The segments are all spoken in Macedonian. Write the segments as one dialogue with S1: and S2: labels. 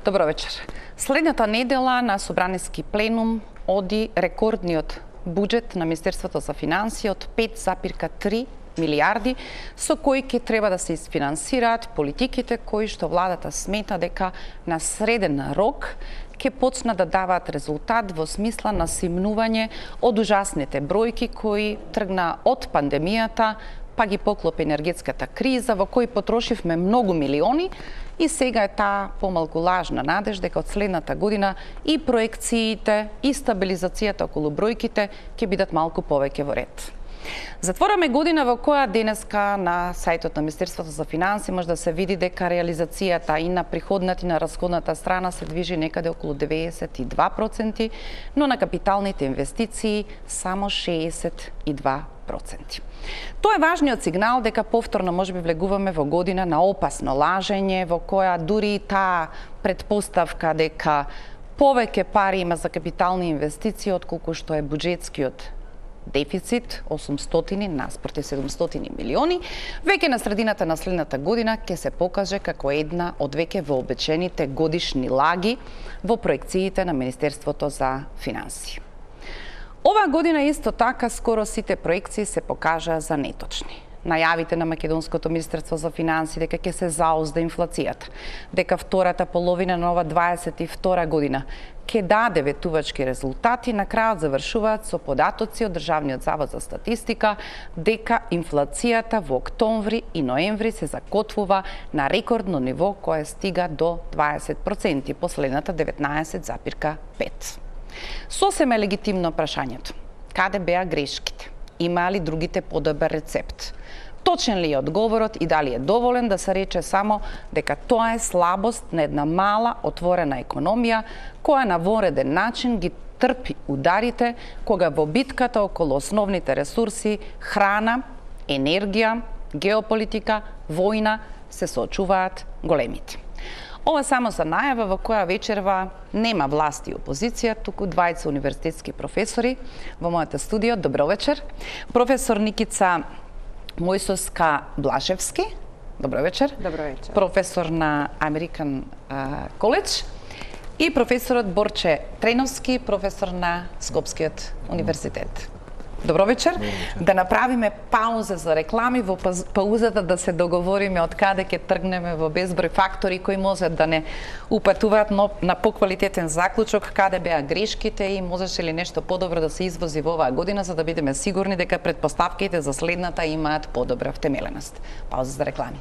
S1: Добро вечер. Следната недела на Собраниски пленум оди рекордниот буџет на Министерството за финансии од 5,3 милиарди, со кои ќе треба да се isfinansираат политиките кои што владата смета дека на среден рок ќе почнат да даваат резултат во смисла на симнување од ужасните бројки кои тргна од пандемијата, па ги поклопи енергетската криза во кој потрошивме многу милиони и сега е таа помалку лажна надеж дека од следната година и проекциите и стабилизацијата околу бројките ќе бидат малку повеќе во ред. Затвораме година во која денеска на сајтот на Министерството за финансии може да се види дека реализацијата и на приходната и на расходната страна се движи некаде околу 92%, но на капиталните инвестиции само 62%. Тоа е важниот сигнал дека повторно можеби влегуваме во година на опасно лажење, во која дури и таа предпоставка дека повеќе пари има за капитални инвестиции отколку што е буџетскиот дефицит 800 наспроти 700 милиони, веќе на средината на следната година ќе се покаже како една од веќе вообичаените годишни лаги во проекциите на Министерството за финансии. Оваа година исто така скоро сите проекции се покажаа за неточни. Најавите на Македонското Министерство за финансии дека ќе се заузда инфлацијата, дека втората половина на ова 22 година ќе даде ветувачки резултати, на крајот завршуваат со податоци од Државниот завод за статистика дека инфлацијата во октомври и ноември се закотвува на рекордно ниво кое стига до 20%, последната 19,5%. Сосем е легитимно прашањето. Каде беа грешките? Има ли другите подобар рецепт? Точен ли е одговорот и дали е доволен да се рече само дека тоа е слабост на една мала отворена економија која на вореден начин ги трпи ударите кога во битката околу основните ресурси храна, енергија, геополитика, војна се соочуваат големите. Ова само за најава во која вечерва нема власт и опозиција, туку двајца универзитетски професори во мојата студио. Добро вечер. Професор Никица Мојсовска-Блашевски. Добро вечер.
S2: Добро вечер.
S1: Професор на American College и професорот Борче Треновски, професор на Скопскиот универзитет. Добро вечер. Да направиме пауза за реклами, во паузата да се договориме од каде ќе тргнеме во безброј фактори кои можат да не упатуваат на поквалитетен заклучок, каде беа грешките и можеше ли нешто подобро да се извози во оваа година за да бидеме сигурни дека претпоставките за следната имаат подобра втемеленост. Пауза за реклами.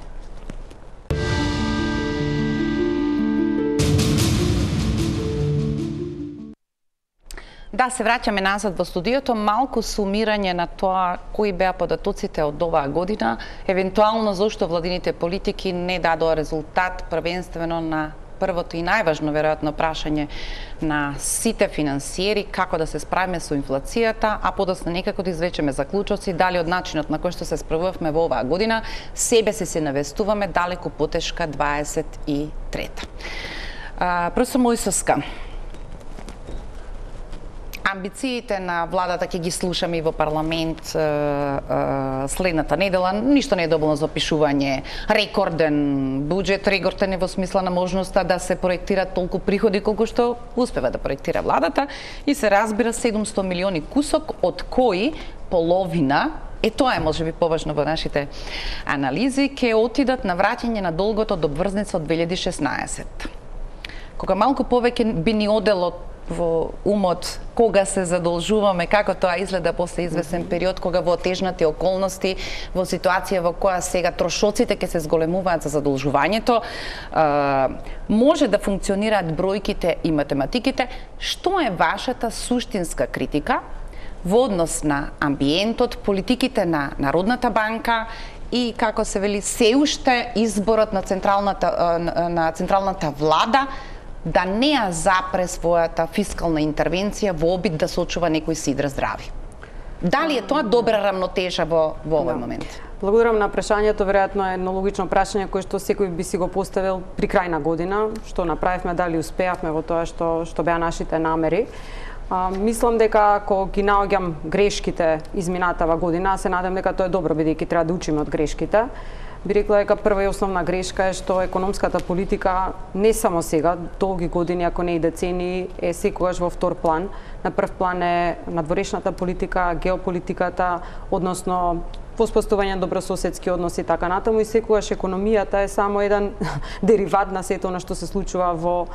S1: Да, се враќаме назад во студиото, малку сумирање на тоа кои беа податоците од оваа година, евентуално зошто владините политики не дадоа резултат првенствено на првото и најважно веројатно прашање на сите финансиери како да се справиме со инфлацијата, а подоцна некако да извлечеме заклучоци дали од начинот на кој што се справувавме во оваа година себе се навестуваме далеку потешка 23-та. Професор Мојсовска, амбициите на владата ќе ги слушаме и во парламент следната недела. Ништо не е добилно за опишување. Рекорден буџет, рекорден е во смисла на можноста да се проектираат толку приходи колку што успева да проектира владата и се разбира 700 милиони кусок, од кои половина тоа е можеби поважно во нашите анализи, ќе отидат на враќање на долгот од обврзница од 2016. Кога малку повеќе би ни одело во умот кога се задолжуваме, како тоа изгледа после извесен период, кога во отежнати околности, во ситуација во која сега трошоците ќе се зголемуваат за задолжувањето, може да функционираат бројките и математиките. Што е вашата суштинска критика во однос на амбиентот, политиките на Народната банка и, како се вели, се уште изборот на централната влада да не ја запре својата фискална интервенција во обид да сочува некој сидра здрави? Дали е тоа добра рамнотежа во овој момент?
S2: Благодарам на прашањето, веројатно е едно логично прашање кое што секој би си го поставил при крај на година, што направивме, дали успеавме во тоа што беа нашите намери. Мислам дека ако ги наоѓам грешките изминатава година, се надам дека тоа е добро бидејќи треба да учиме од грешките. би рекла дека прва и основна грешка е што економската политика не само сега, долги години, ако не и децении, е секогаш во втор план. На прв план е надворешната политика, геополитиката, односно воспоставување на добрососедски односи и така натаму, и секогаш економијата е само еден дериват на сето она што се случува во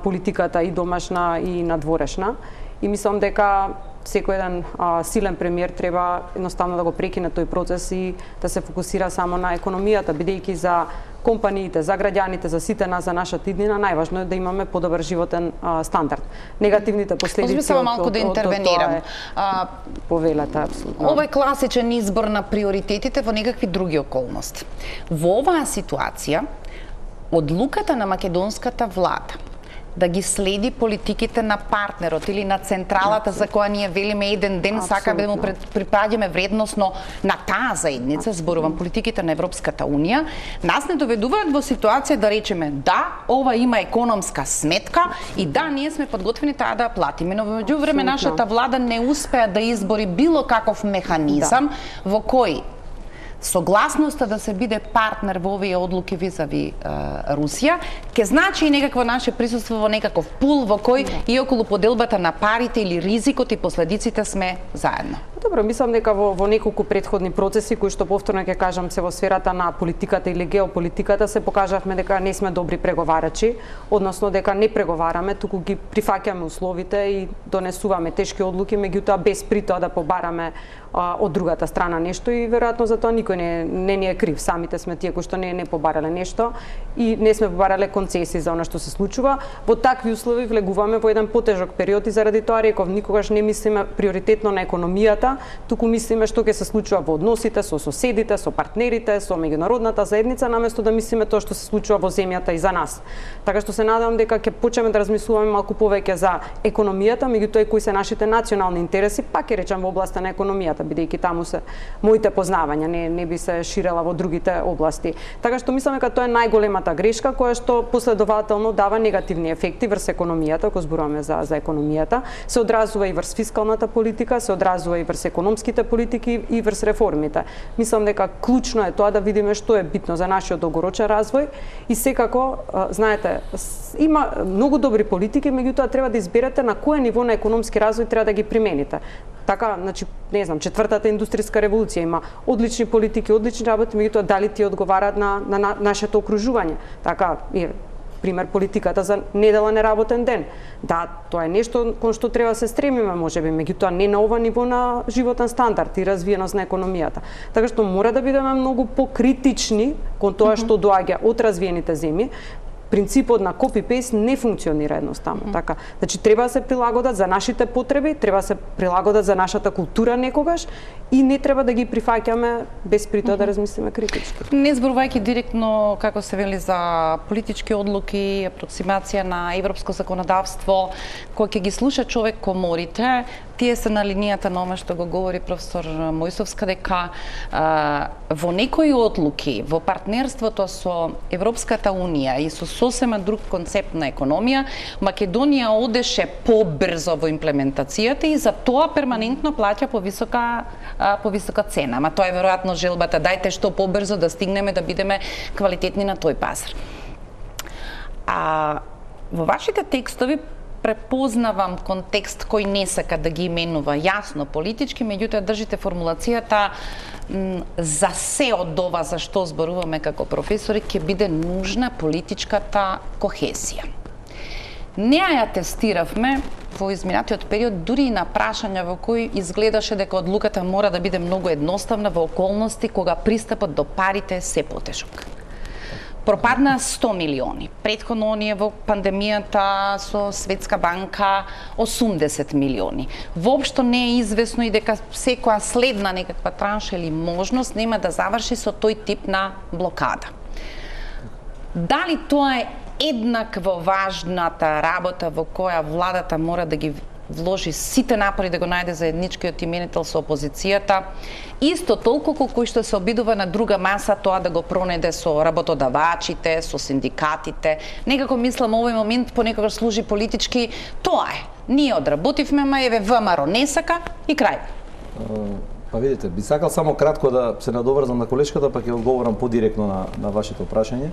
S2: политиката и домашна и надворешна. И мислам дека секој еден силен премиер треба едноставно да го прекине тој процес и да се фокусира само на економијата, бидејќи за компаниите, за граѓаните, за сите нас, за нашата иднина, најважно е да имаме подобар животен стандард. Негативните последици
S1: од малку да интервенирам.
S2: Повелата апсолутно.
S1: Ова е класичен избор на приоритетите во некакви други околности. Во оваа ситуација, одлуката на македонската влада да ги следи политиките на партнерот или на централата за која ние велиме еден ден сакаме да му припаѓаме вредносно на таа заедница, зборувам политиките на Европската унија, нас не доведуваат во ситуација да речеме да, ова има економска сметка и да, ние сме подготвени таа да ја платиме, но во меѓувреме нашата влада не успеа да избори било каков механизам во кој согласноста да се биде партнер во овие одлуки визави Русија, ќе значи и некакво наше присуство во некаков пул во кој и околу поделбата на парите или ризикот и последиците сме заедно.
S2: Добро, мислам дека во неколку претходни процеси кои што повторно ќе кажам се во сферата на политиката или геополитиката се покажавме дека не сме добри преговарачи, односно дека не преговараме, туку ги прифаќаме условите и донесуваме тешки одлуки, меѓутоа без при тоа да побараме од другата страна нешто и веројатно за тоа никој не ни е крив. Самите сме тие кои што не побарале нешто и не сме побарале концесии за она што се случува. Во такви услови влегуваме во еден потежок период и заради тоа реков никогаш не мислиме приоритетно на економијата, туку мислиме што ќе се случува во односите со соседите, со партнерите, со меѓународната заедница, наместо да мислиме тоа што се случува во земјата и за нас. Така што се надевам дека ќе почнеме да размислуваме малку повеќе за економијата, меѓутоа и кои се нашите национални интереси, пак ќе речам во областа на економијата, бидејќи таму се моите познавања, не би се ширела во другите области. Така што мислам дека тоа е најголемата грешка која што последователно дава негативни ефекти врз економијата, ако зборуваме за економијата, се одразува и врз фискалната политика, се одразува и врз економските политики и врз реформите. Мислам дека клучно е тоа да видиме што е битно за нашиот долгорочен развој и секако, знаете, има многу добри политики, меѓутоа треба да изберете на кое ниво на економски развој треба да ги примените. Така, значи, не знам, четвртата индустријска револуција има одлични политики, одлични работи, меѓутоа дали ти одговараат на нашето окружување. Така, пример политиката за неделен неработен ден. Да, тоа е нешто кон што треба да се стремиме, можеби, меѓутоа не на ова ниво на животен стандард и развиеност на економијата. Така што мора да бидеме многу покритични кон тоа што доаѓа од развиените земји. Принципот на copy-paste не функционира едноставно. Така, значи треба да се прилагодат за нашите потреби, треба да се прилагодат за нашата култура некогаш и не треба да ги прифаќаме без при тоа да размислиме критички.
S1: Не зборувајќи директно, како се вели, за политички одлуки, апроксимација на европско законодавство, кој ќе ги слуша човек коморите, тие се на линијата на ова што го говори професор Мојсовска, дека во некои одлуки, во партнерството со Европската унија и со сосема друг концепт на економија, Македонија одеше побрзо во имплементацијата и за тоа перманентно плаќа повисока цена. Ама тоа е веројатно желбата, дајте што побрзо да стигнеме да бидеме квалитетни на тој пазар. Во вашите текстови препознавам контекст кој не сака да ги именува јасно политички, меѓутоа држите формулацијата за се од ова за што зборуваме како професори ќе биде нужна политичката кохезија. Неа ја тестиравме во изминатиот период дури и на прашања во кои изгледаше дека одлуката мора да биде многу едноставна во околности кога пристапот до парите е се потешок. Пропадна 100 милиони. Претходно оние во пандемијата со Светска банка 80 милиони. Воопшто не е известно и дека секоја следна некаква транша или можност нема да заврши со тој тип на блокада. Дали тоа е еднакво важната работа во која владата мора да ги вложи сите напори да го најде заедничкиот именител со опозицијата, исто толку колку што се обидува на друга маса тоа да го пронеде со работодавачите, со синдикатите. Некако мислам овој момент понекогаш служи политички, тоа е. Ние одработивме, ма еве ВМРО не сака и крај.
S3: Па видите, би сакал само кратко да се надоврзам на колешката, па ќе одговорам подиректно на вашето прашање.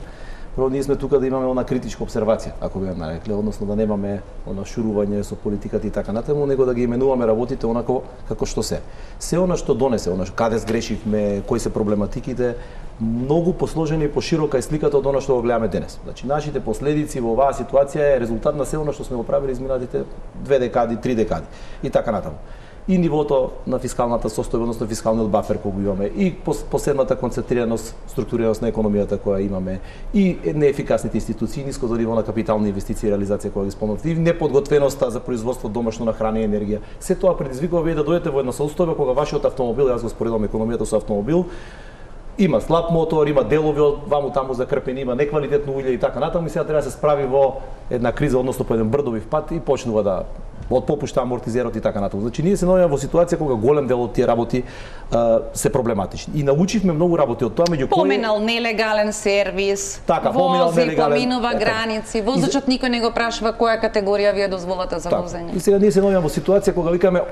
S3: Прво, ние сме тука да имаме она критичка обсервација, ако би ја нарекли, односно да немаме она шурување со политиката и така натаму, него да ги именуваме работите онако како што се. Се она што донесе, она каде сгрешивме, кои се проблематиките, многу посложени и поширока е сликата од она што го гледаме денес. Значи, нашите последици во оваа ситуација е резултат на се она што сме го правили изминатите 2 декади, 3 декади и така натаму. И нивото на фискалната состојба, односно фискалниот бафер кој го имаме, и последната концентрираност, структурираност на економијата која имаме, и неефикасните институции, ниското ниво на капитални инвестиции и реализација која ги спомнавте, и неподготвеноста за производство домашно на храна и енергија. Се тоа предизвикува вие да дојдете во една состојба кога вашиот автомобил, јас го споредувам економијата со автомобил, има слаб мотор, има делови од ваму таму закрпени, има неквалитетно улје и така натаму, и сега треба да се справи во една криза, односно по еден брдовив пат и почнува да од попушта амортизерот и така натаму. Значи ние се наоѓаме во ситуација кога голем дел од тие работи се проблематични. И научивме многу работи од тоа, меѓу кои
S1: поминал нелегален сервис,
S3: така, поминал нелегален,
S1: поминува граници, возачот никој не го прашува која категорија ви е дозволата за возење.
S3: И сега ние се наоѓаме во ситуација кога викаме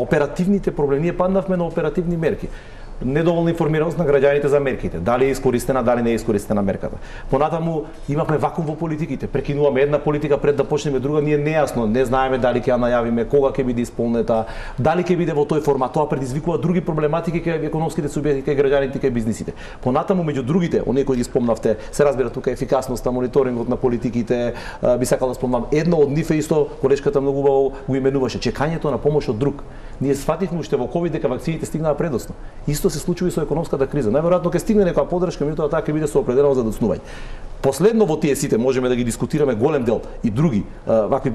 S3: оперативните проблеми, ние паднавме на оперативни мерки. Недоволна информираност на граѓаните за мерките, дали е искористена, дали не е искористена мерката. Понатаму имавме вакуум во политиките, прекинуваме една политика пред да почнеме друга, ние нејасно, не знаеме дали ќе ја најавиме, кога ќе биде исполнета, дали ќе биде во тој формат. Тоа предизвикува други проблематики кај економските субјекти, кај граѓаните, кај бизнисите. Понатаму меѓу другите, оние кои ги спомнавте, се разбира тука ефикасноста, мониторингот на политиките, би сакал да спомнам, едно од нив е исто, колешката многу убаво го именуваше, чекањето на помош од друг. Ние сфативме уште во ковид дека вакцините стигнаа предосно. Исто се случува и со економската криза. Најверојатно ќе стигне некоја поддршка, меѓутоа таа ќе биде со определено задоцнување. Последно во тие сите можеме да ги дискутираме голем дел и други вакви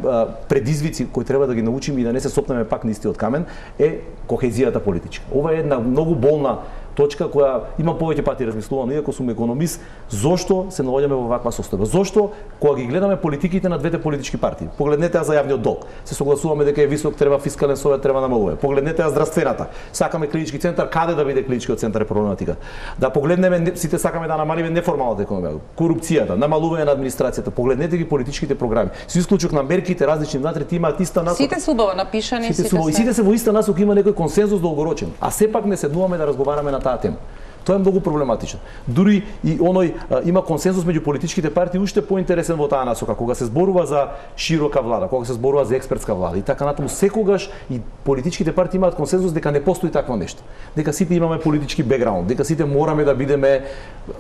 S3: предизвици кои треба да ги научиме и да не се сопнеме пак на истиот камен е кохезијата политичка. Ова е една многу болна точка која има повеќе пати размислувано, иако сум економист, зошто се наоѓаме во ваква состојба? Зошто кога ги гледаме политиките на двете политички партии? Погледнете ја за јавниот долг. Се согласуваме дека е висок, треба фискален совет, треба намалува. Погледнете ја здравствената. Сакаме клинички центар, каде да биде клиничкиот центар е проблематика. Да погледнеме, сите сакаме да намалиме неформалната економија, корупцијата, намалување на администрацијата. Погледнете ги политичките програми. Со исклучок на мерките различни внатре имаат иста насока.
S1: Сите се убаво напишани,
S3: сите се во иста насока, има некој консензус долгорочен. А сепак не седнуваме да разговараме на таа тема. Тоа е многу проблематично. Дури и оној има консензус меѓу политичките партии уште поинтересен во таа насока, кога се зборува за широка влада, кога се зборува за експертска влада и така натаму, секогаш и политичките партии имаат консензус дека не постои такво нешто. Дека сите имаме политички бекграунд, дека сите мораме да бидеме,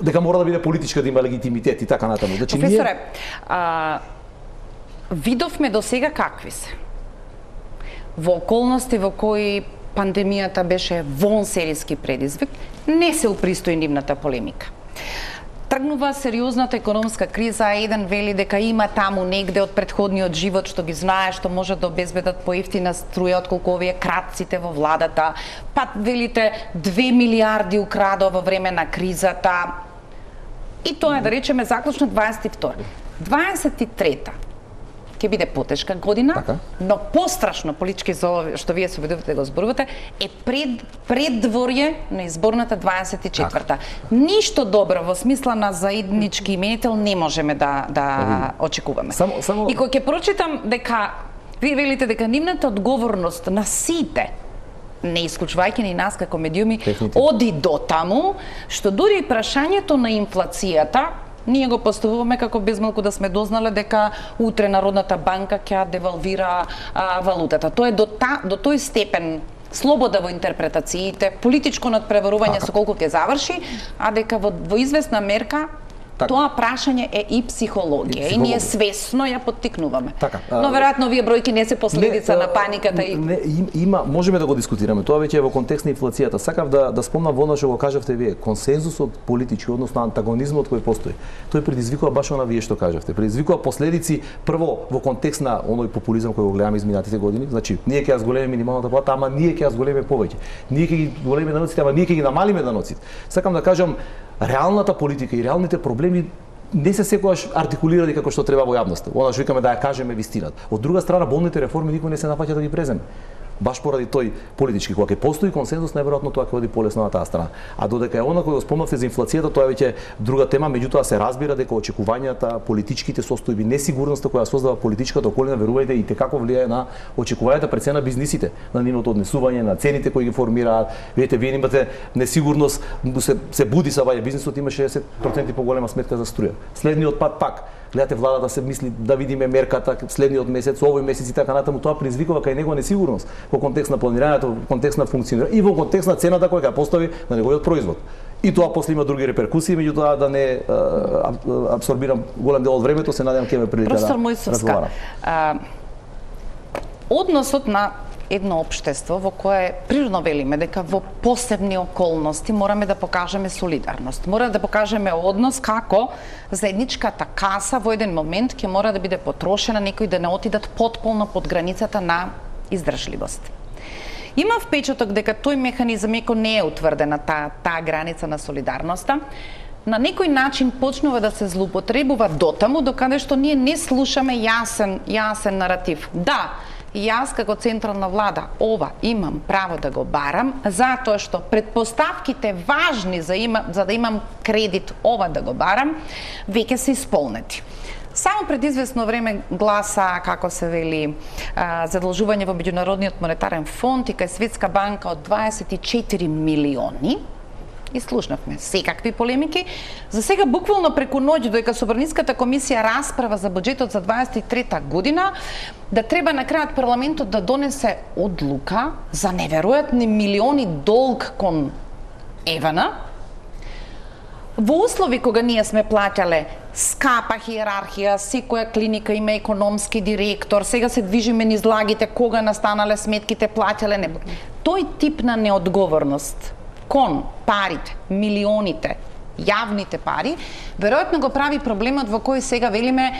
S3: дека мора да биде политичка да има легитимитет и така натаму. Значи
S1: професоре, видовме до сега какви се. Во околности во кои пандемијата беше вонсериски предизвик, не се упристои нивната полемика. Тргнува сериозната економска криза, еден вели дека има таму негде од претходниот живот што ги знае, што може да обезбедат поевтина струја отколку овие кратците во владата, па велите 2 милиарди украдо во време на кризата. И тоа е, да речеме, заклучно 22. 23-та ќе биде потешка година,
S3: така,
S1: но пострашно политички за ова што вие се обидувате да го зборувате е преддворје на изборната 24-та. Ништо добро во смисла на заеднички именител не можеме да очекуваме.
S3: Само...
S1: И кога ќе прочитам дека вие велите дека нивната одговорност на сите, не исклучувајќи ни нас како медиуми, оди до таму, што дури и прашањето на инфлацијата ние го поставуваме како безмалку да сме дознале дека утре Народната банка ќе девалвира валутата. Тоа е до тој степен слобода во интерпретациите, политичко надпреварување со колку ќе заврши, а дека во известна мерка тоа прашање е и психологија и ние свесно ја поттикнуваме. Но веројатно овие бројки не се последица на паниката и
S3: има, можеме да го дискутираме. Тоа веќе е во контекст на инфлацијата. Сакав да спомнам во она што го кажавте вие, консензусот политички, односно антагонизмот кој постои. Тој предизвикува баш она вие што кажавте. Предизвикува последици прво во контекст на оној популизам кој го гледаме изминатите години. Значи, ние ќе ја зголемиме минималната плата, ама ние ќе ја зголемиме повеќе. Ние ќе ги зголемиме даноците, ама ние ќе ги намалиме даноците. Сакам да кажам, реалната политика и реалните проблеми не се секогаш артикулирани како што треба во јавноста. Она што викаме да ја кажеме вистината. Од друга страна, болните реформи никој не се нафаќа да ги преземе. баш поради тој политички, кога ќе постои консензус, најверојатно тоа ќе оди полесно на таа страна. А додека е она кој го спомнавте за инфлацијата, тоа е веќе друга тема, меѓутоа се разбира дека очекувањата, политичките состојби, несигурноста која создава политичката околина, верувајте, и како влијае на очекувањата пред се на бизнисите, на нивното однесување, на цените кои ги формираат. Видите, вие имате несигурност, се буди са ваѓа бизнисот, има 60% поголема сметка за струја. Следниот пат пак гледате владата се мисли да видиме мерката следниот месец, овој месец и така натаму, тоа предизвикува кај него несигурност во контекст на планирањето, во контекст на функционирање и во контекст на цената која ќе постави на неговиот производ. И тоа после има други реперкусии, меѓутоа да не абсорбирам голем дел од времето, се надевам ќе ме прилика да разговарам.
S1: Односот на едно општество во кое природно велиме дека во посебни околности мораме да покажеме солидарност. Мора да покажеме однос како заедничката каса во еден момент ќе мора да биде потрошена, некои да не отидат потполно под границата на издржливост. Има впечаток дека тој механизам, иако не е утврдена таа граница на солидарноста, на некој начин почнува да се злоупотребува дотаму докаде што ние не слушаме јасен наратив. Да, јас како централна влада ова имам право да го барам, затоа што предпоставките важни за да имам кредит ова да го барам, веќе се исполнети. Само пред известно време гласа, како се вели, задолжување во Меѓународниот монетарен фонд и кај Светска банка од 24 милиони. И слушнавме секакви полемики. За сега буквално преку ноќ, додека Собраниската комисија расправа за буџетот за 23-та година, да треба на крајот парламентот да донесе одлука за неверојатни милиони долг кон Евана, во услови кога ние сме плаќале скапа хиерархија, секоја клиника има економски директор, сега се движиме низ лагите кога настанале сметките плаќале не. Тој тип на неодговорност кон парите, милионите, јавните пари, веројатно го прави проблемот во кој сега велиме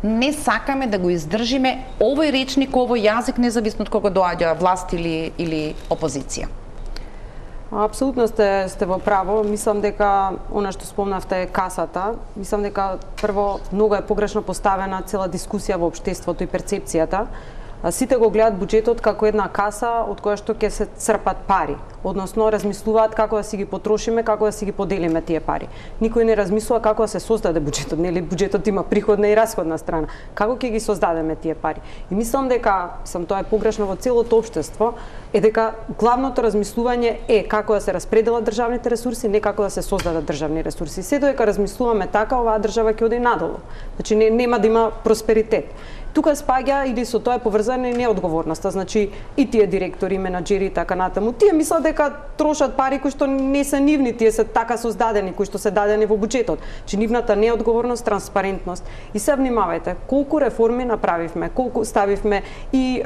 S1: не сакаме да го издржиме овој речник, овој јазик, независно од кого доаѓа власт или опозиција.
S2: Апсолутно сте во право. Мислам дека она што спомнавте е касата. Мислам дека прво многу е погрешно поставена цела дискусија во општеството и перцепцијата. Сите го гледаат буџетот како една каса од која што ќе се црпат пари, односно размислуваат како да си ги потрошиме, како да си ги поделиме тие пари. Никој не размислува како да се создаде буџетот, нели буџетот има приходна и расходна страна. Како ќе ги создадеме тие пари? И мислам дека, тоа е погрешно во целото општество, е дека главното размислување е како да се распределат државните ресурси, не како да се создадат државни ресурси. Се додека размислуваме така, оваа држава ќе оди надолу. Значи нема да има просперитет. Тука спаѓа или со тоа е поврзана и неодговорноста, значи и тие директори, менаџери и така натаму. Тие мислат дека трошат пари кои што не се нивни, тие се така создадени, кои што се дадени во буџетот. Че нивната неодговорност, транспарентност. И се внимавајте, колку реформи направивме, колку ставивме и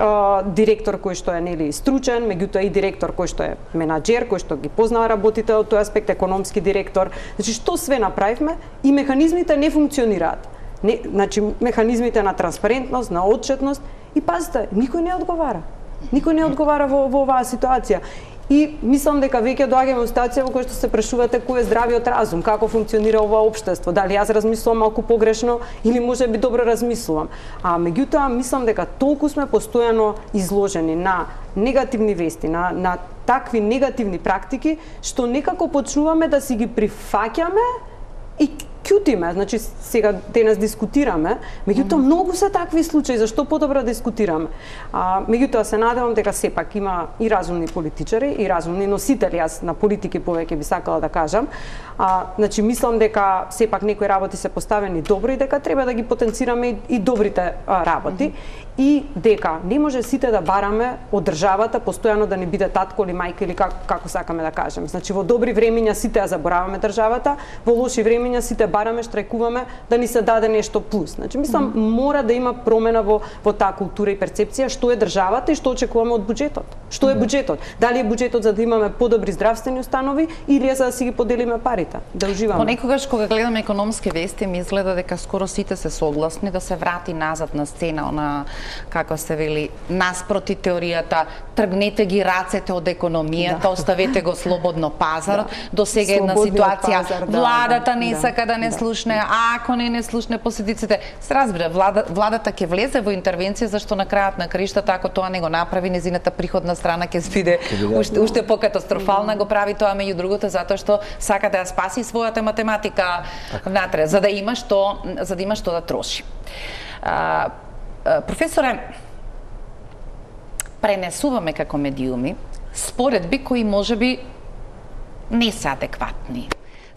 S2: директор кој што е нели стручен, меѓутоа и директор кој што е менаџер, кој што ги познава работите од тој аспект, економски директор. Значи што све направивме и механизмите не функционираат. Значи механизмите на транспарентност, на отчетност и пазите, никој не одговара. Никој не одговара во оваа ситуација. И мислам дека веќе доаѓаме во ситуација во која што се прашувате кој е здравиот разум, како функционира ова општество, дали јас размислувам малку погрешно или можеби добро размислувам. А меѓутоа мислам дека толку сме постојано изложени на негативни вести, на такви негативни практики, што некако почнуваме да си ги прифаќаме и кјутиме, значи сега денес дискутираме, меѓутоа многу се такви случаи, зашто подобро дискутираме. Меѓутоа се надевам дека сепак има и разумни политичари и разумни носители, јас на политики повеќе би сакала да кажам. Значи мислам дека сепак некои работи се поставени добро и дека треба да ги потенцираме и добрите работи. И дека не може сите да бараме од државата постојано да не биде татко или мајка или како сакаме да кажеме. Значи во добри времиња сите ја забораваме државата, во лоши времиња сите бараме, штрајкуваме да ни се даде нешто плюс. Значи мислам мора да има промена во таа култура и перцепција што е државата и што очекуваме од буџетот. Што е буџетот? Дали е буџетот за да имаме подобри здравствени установи или е за да си ги поделиме парите, да уживаме?
S1: Понекогаш кога гледаме економски вести ми изгледа дека скоро сите се согласни да се врати назад на сцена на како се вели, наспроти теоријата, тргнете ги рацете од економијата, оставете го слободно пазарот. До сега една ситуација, владата не сака да не слушне, ако не слушне последиците. Се разбира, владата ќе влезе во интервенција, зашто на крајот на краиштата, ако тоа не го направи, незината приходна страна ќе биде уште покатастрофална. Го прави тоа меѓу другото затоа што сака да ја спаси својата математика внатре, за да има што да троши. Професоре, пренесуваме како медиуми споредби кои можеби не се адекватни.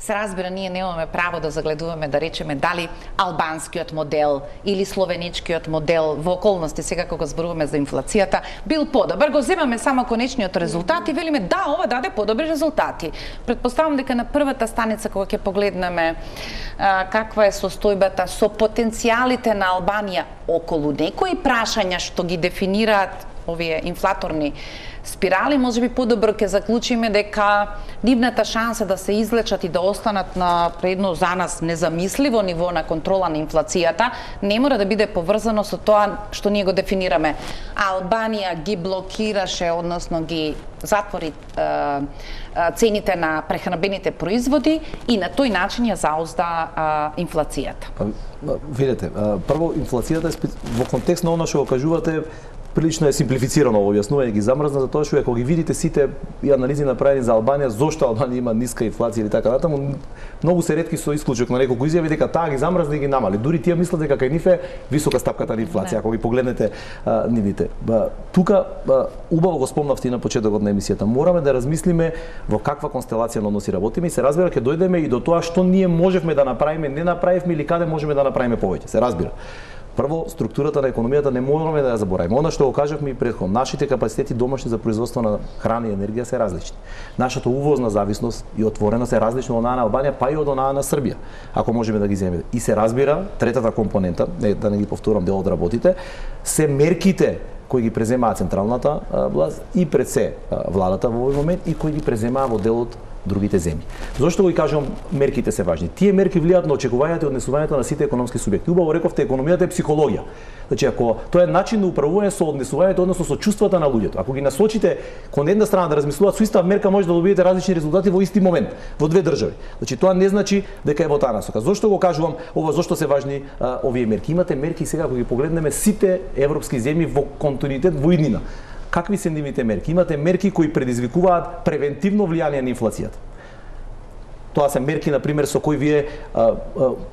S1: Се разбира, ние немаме право да загледуваме, да речеме, дали албанскиот модел или словеничкиот модел во околности сега кога зборуваме за инфлацијата бил подобар. Го земаме само конечниот резултат и велиме да, ова даде подобри резултати. Претпоставам дека на првата станица кога ќе погледнеме каква е состојбата со потенцијалите на Албанија околу некои прашања што ги дефинираат овие инфлаторни спирали, можеби подобро ќе заклучиме дека нивната шанса да се излечат и да останат на едно за нас незамисливо ниво на контрола на инфлацијата не мора да биде поврзано со тоа што ние го дефинираме. Албанија ги блокираше, односно ги затвори цените на прехранбените производи и на тој начин ја заузда инфлацијата.
S3: Видете, прво инфлацијата во контекст на она што го кажувате прилично е симплифицирано во објаснување, ги замрзна за тоа што ако ги видите сите и анализи направени за Албанија, зошто Албанија има ниска инфлација или така натаму, многу се ретки со исклучок на неколку изјави дека таа ги замрзна и ги намали. Дури тие мислат дека кај нив е висока стапката на инфлација, ако ги погледнете нивните. Тука убаво го спомнавте на почетокот на емисијата. Мораме да размислиме во каква констелација на односи работиме и се разбира ќе дојдеме и до тоа што ние можевме да направиме, не направивме или каде можеме да направиме повеќе. Се разбира. Прво, структурата на економијата не можеме да ја заборавиме. Она што го кажавме и претходно, нашите капацитети домашни за производство на храна и енергија се различни. Нашата увозна зависност и отвореност е различна од онаа на Албанија, па и од онаа на Србија, ако можеме да ги земеме. И се разбира, третата компонента, да не ги повторам дел од работите, се мерките кои ги преземаа централната власт и пред се владата во овој момент и кои ги преземаа во делот другите земји. Зошто го и кажувам мерките се важни? Тие мерки влијаат на очекувањата и однесувањето на сите економски субјекти. Убаво рековте, економијата е психологија. Значи, ако тоа е начин на управување со однесувањето, односно со чувствата на луѓето. Ако ги насочите кон една страна да размислуваат со иста мерка, може да добиете различни резултати во исти момент, во две држави. Значи, тоа не значи дека е во таа насока. Зошто го кажувам ова, зошто се важни овие мерки? Имате мерки сега ако ги погледнеме сите европски земји во континуитет во иднина. Какви се нивните мерки? Имате мерки кои предизвикуваат превентивно влијание на инфлацијата. Тоа се мерки, например, со кои вие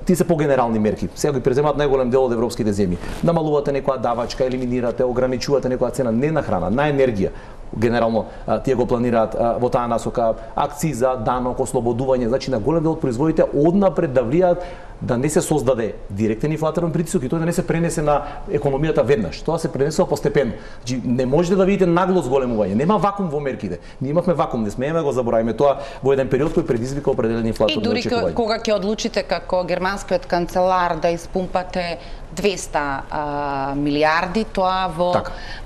S3: ти се погенерални мерки. Сега ги преземаат најголем дел од европските земји. Намалувате некоја давачка, елиминирате, ограничувате некоја цена не на храна, на енергија. Генерално тие го планираат во таа насока акциза, данок, ослободување, значи на голем дел од производите однапред да влијаат да не се создаде директен инфлаторен притисок и тоа да не се пренесе на економијата веднаш. Тоа се пренесува постепено. Значи не можете да видите нагло зголемување. Нема вакуум во мерките. Ние имавме вакуум, не смееме го забораваме тоа во еден период кој предизвика определени инфлаторни очекувања.
S1: И дури кога ќе одлучите како германскиот канцелар да испумпате 200 милиарди, тоа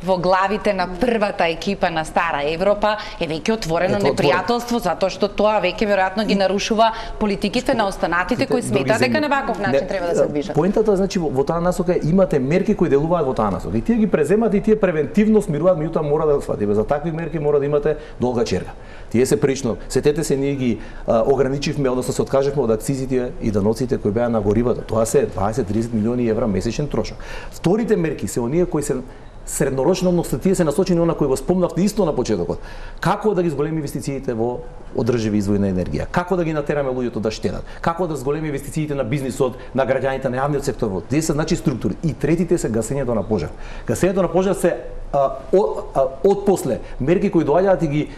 S1: во главите на првата екипа на Стара Европа е веќе отворено непријателство, затоа што тоа веќе веројатно ги нарушува политиките на останатите кои сметаат дека на ваков начин треба да се движат.
S3: Поентата значи во таа насока имате мерки кои делуваат во таа насока. И тие ги преземат и тие превентивно смируваат, меѓутоа мора да сватиме. За такви мерки мора да имате долга черга. Тие се прилично. Сетете се, ние ги ограничивме, односно се откажавме од акцизите и даноците кои беа на горивата. Тоа се 20-30 милиони евра месечен трошок. Вторите мерки се оние кои се среднорочно, односно тие се насочени на кои го спомнавте исто на почетокот. Како да ги зголеми инвестициите во одрживи извори на енергија? Како да ги натераме луѓето да штедат? Како да зголеми инвестициите на бизнисот, на граѓаните, на јавниот сектор? Тие се значи структури. И третите се гасењето на пожар. Гасењето на пожар се од после мерки кои доаѓаат и ги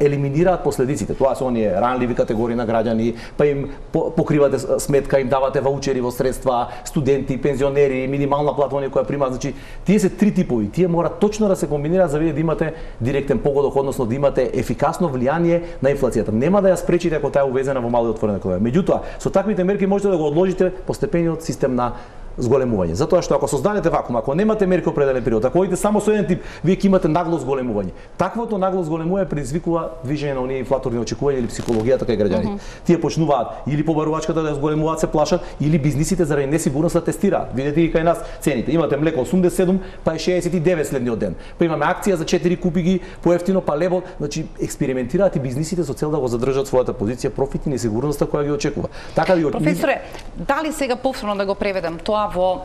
S3: елиминираат последиците. Тоа се оние ранливи категории на граѓани, па им покривате сметка, им давате ваучери во средства, студенти, пензионери, минимална плата оние која примаат. Значи, тие се три типови. Тие мора точно да се комбинираат за да имате директен погодок, односно да имате ефикасно влијание на инфлацијата. Нема да ја спречите ако таа е увезена во мало и отворена економија. Меѓутоа, со таквите мерки можете да го одложите постепениот систем на зголемување. Затоа што ако создадете вакуум, ако немате мерки определен период, ако одите само со еден тип, вие ќе имате нагло зголемување. Таквото нагло зголемување предизвикува движење на оние инфлаторни очекувања или психологијата кај граѓаните. Тие почнуваат или побарувачката да зголемуваат, се плашат, или бизнисите заради несигурност да тестираат. Видете и кај нас цените. Имате млеко 87, па е 69 следниот ден. Па имаме акција за 4 купи ги поевтино, па левот, значи експериментираат и бизнисите со цел да го задржат својата позиција, профит и несигурноста која ги очекува. Така ви
S1: Професоре, дали сега повторно да го преведам тоа во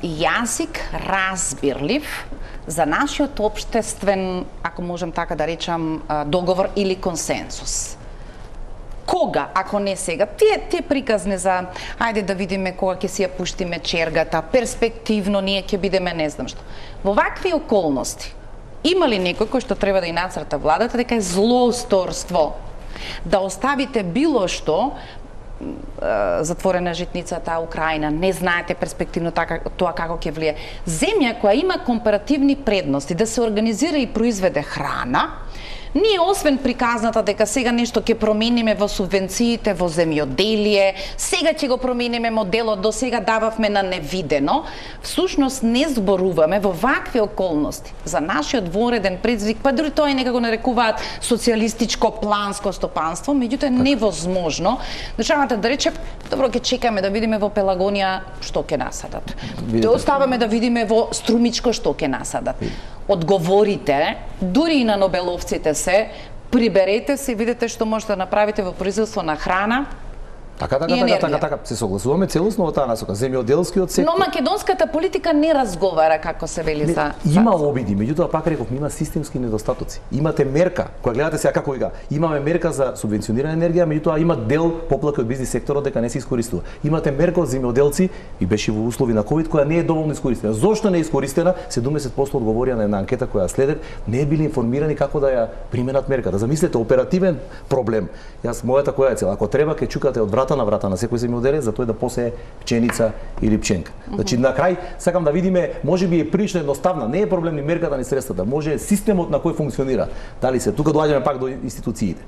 S1: јазик разбирлив за нашиот општествен, ако можем така да речам, договор или консенсус? Кога, ако не сега, тие приказни за ајде да видиме кога ќе си ја пуштиме чергата, перспективно ние ќе бидеме не знам што. Во вакви околности, има ли некој кој што треба да и нацрта владата дека е злоусторство да оставите било што затворена житницата Украина, не знаете перспективно тоа како ќе влие. Земја која има компаративни предности да се организира и произведе храна, ние освен приказната дека сега нешто ќе промениме во субвенциите во земјоделие, сега ќе го промениме моделот, до сега дававме на невидено, всушност не зборуваме во вакви околности за нашиот вореден предизвик, па дури тоа и некако нарекуваат социјалистичко планско стопанство, меѓутоа е невозможно државата да рече, добро ќе чекаме да видиме во Пелагонија што ќе насадат. Да оставаме да видиме во Струмичко што ќе насадат. Одговорите, дури и на нобеловците се, приберете се и видите што можете да направите во производство на храна.
S3: Така, се согласуваме целосно во таа насока. Земјоделскиот сектор.
S1: Но македонската политика не разговара како се вели за.
S3: Има обиди, меѓутоа пак реков, има системски недостатоци. Имате мерка, која гледате сега како вика, имаме мерка за субвенционирана енергија, меѓутоа има дел поплаки од бизнис секторот дека не се искористува. Имате мерка од земјоделци и беше во услови на ковид која не е доволно искористена. Зошто не е искористена? 70% одговорија на една анкета која следет, не е били информирани како да ја применат мерката. Замислете, оперативен проблем. Јас мојата која е цел? Ако треба ќе чукате од врата на секој земјоделец за тој да посее пченица или пченка. Значи на крај сакам да видиме, можеби е прилично едноставна, не е проблем ни мерката ни средствата, може системот на кој функционира. Дали се тука доаѓаме пак до институциите.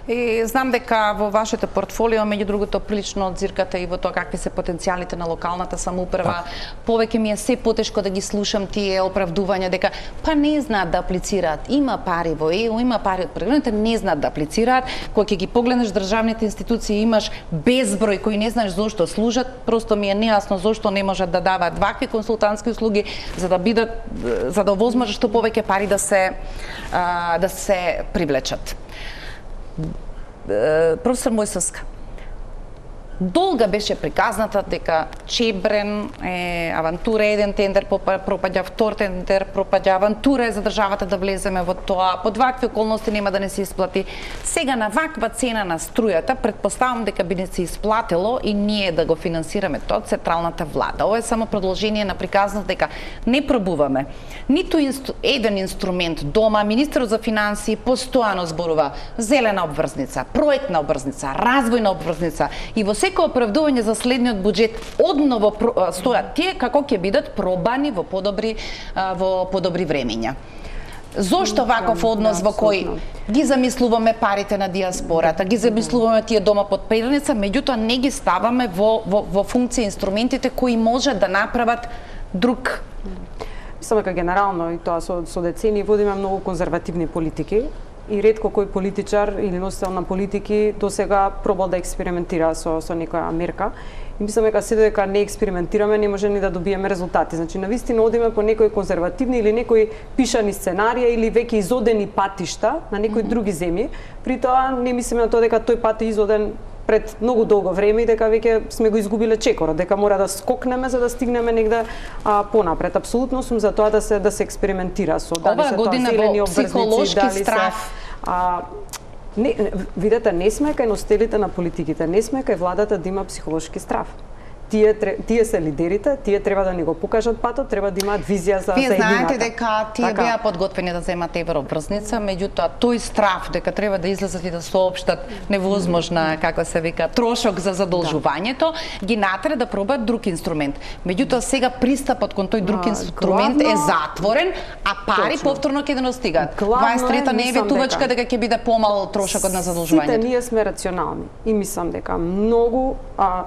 S1: И знам дека во вашето портфолио, меѓу другото, прилично одзиркате и во тоа какви се потенцијалите на локалната самоуправа. Повеќе ми е се потешко да ги слушам тие оправдувања дека па не знаат да аплицираат. Има пари во ЕУ, има пари од програмите, не знаат да аплицираат. Кога ќе ги погледнеш државните институции, имаш безброј кои не знаеш зошто служат, просто ми е нејасно зошто не можат да даваат вакви консултантски услуги за да овозможат што повеќе пари да се привлечат. Професор Мојсовска, долга беше приказната дека Чебрен е авантура, еден тендер пропаѓа, втор тендер пропаѓа, авантура е за државата да влеземе во тоа, под вакви околности нема да не се исплати. Сега на ваква цена на струјата, предпоставам дека би не се исплатило и ние да го финансираме тоа од централната влада. Ова е само продолжение на приказната дека не пробуваме ниту еден инструмент дома. Министерот за финансии постојано зборува зелена обврзница, проектна обврзница, развојна обврзница и во секој оправдување за следниот буџет одново стојат тие како ќе бидат пробани во подобри времења. Зошто ваков однос во кој ги замислуваме парите на диаспората, ги замислуваме тие дома под перница, меѓутоа не ги ставаме во функција инструментите кои можат да направат друг?
S2: Мислам дека генерално и тоа со децени водиме многу конзервативни политики и ретко кој политичар или носител на политики досега пробал да експериментира со некоја мерка. И мислам дека се додека не експериментираме не може ни да добиеме резултати. Значи навистина одиме по некои конзервативни или некои пишани сценарија или веќе изодени патишта на некои други земји. При тоа не мислиме на тоа дека тој пат е изоден пред многу долго време и дека веќе сме го изгубиле чекорот, дека мора да скокнеме за да стигнеме негде понапред. Апсолутно сум за тоа да се експериментира со
S1: дали се тоа зелени обврзници, дали
S2: страф. Видете, не сме кај носителите на политиките, не сме кај владата да има психолошки страф. Тие се лидерите, тие треба да ни го покажат патот, треба да имаат визија за
S1: едината.
S2: Вие
S1: знаете дека тие беа подготвени да земат еврообврзница, меѓутоа тој страф дека треба да излезат и да соопштат невозможна, како се вика, трошок за задолжувањето, ги натера да пробаат друг инструмент. Меѓутоа сега пристапот кон тој друг инструмент е затворен, а пари повторно ќе да достигаат. 23-та не е ветувачка дека ќе биде помал трошокот на задолжувањето.
S2: Сите ние сме рационални и мислам дека многу,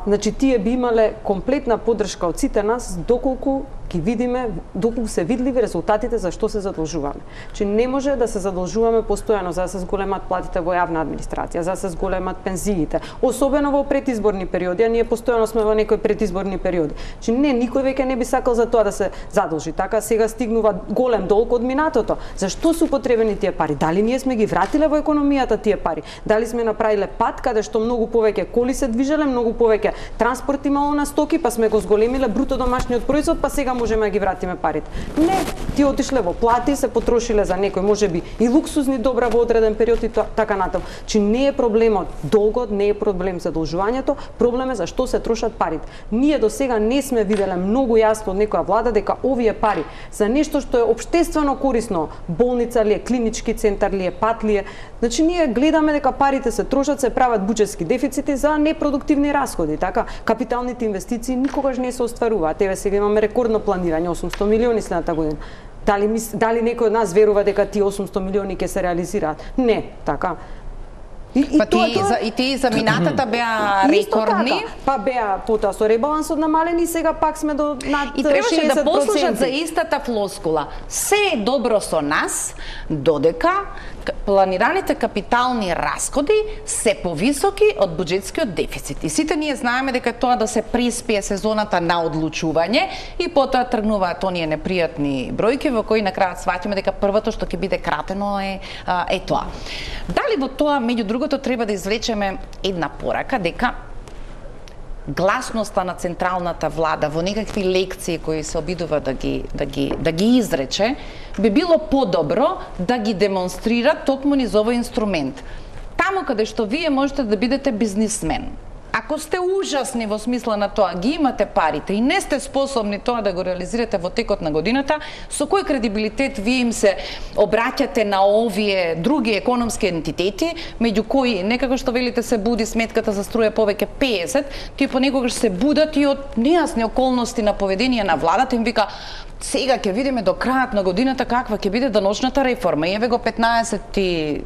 S2: значи тие би имале комплетна поддршка од сите нас доколку ги видиме, доколку се видливи резултатите за што се задолжуваме. Че не може да се задолжуваме постојано за да се зголемат платите во јавна администрација, за да се зголемат пензиите, особено во предизборни периоди, а ние постојано сме во некои предизборни периоди. Че не, никој веќе не би сакал за тоа да се задолжи. Така сега стигнува голем долг од минатото. Зашто се употребени тие пари? Дали ние сме ги вратиле во економијата тие пари? Дали сме направиле пат каде што многу повеќе коли се движеле, многу повеќе транспорт имало на стоки, па сме го зголемиле бруто домашниот производ, па сега можеме да ги вратиме парите. Не, ти отишле во плати, се потрошиле за некој можеби и луксузни добра во одреден период и така натаму. Че не е проблемот долгот, не е проблем задолжувањето, проблем е за што се трошат парите. Ние до сега не сме виделе многу јасно од некоја влада дека овие пари за нешто што е општествено корисно, болница ли е, клинички центар ли е, пат ли е, значи ние гледаме дека парите се трошат, се прават буџетски дефицити за непродуктивни расходи, така капиталните инвестиции никогаш не се остваруваат. Еве сега имаме рекордно планирање 800 милиони следната година. Дали некој од нас верува дека тие 800 милиони ќе се реализираат? Не, така.
S1: И тие за минатата беа рекордни.
S2: Па беа потоа со ребалансот намалени, сега пак сме до над 60%.
S1: И требаше да послушат за истата флоскула. Се е добро со нас, додека планираните капитални расходи се повисоки од буџетскиот дефицит. И сите ние знаеме дека тоа да се приспие сезоната на одлучување и потоа тргнуваат оние непријатни бројки во кои на крајот сваќаме дека првото што ќе биде кратено е тоа. Дали во тоа меѓу другото треба да извлечеме една порака дека гласноста на централната влада во некакви лекции кои се обидува да ги изрече, би било подобро да ги демонстрира токму низ овој инструмент. Таму каде што вие можете да бидете бизнисмен, ако сте ужасни во смисла на тоа, ги имате парите и не сте способни тоа да го реализирате во текот на годината, со кој кредибилитет вие им се обраќате на овие други економски ентитети, меѓу кои некако што велите се буди сметката за струја повеќе 50, тие понекогаш се будат и од нејасни околности на поведение на владата, им вика сега ќе видиме до крајот на годината каква ќе биде даночната реформа. Еве го 15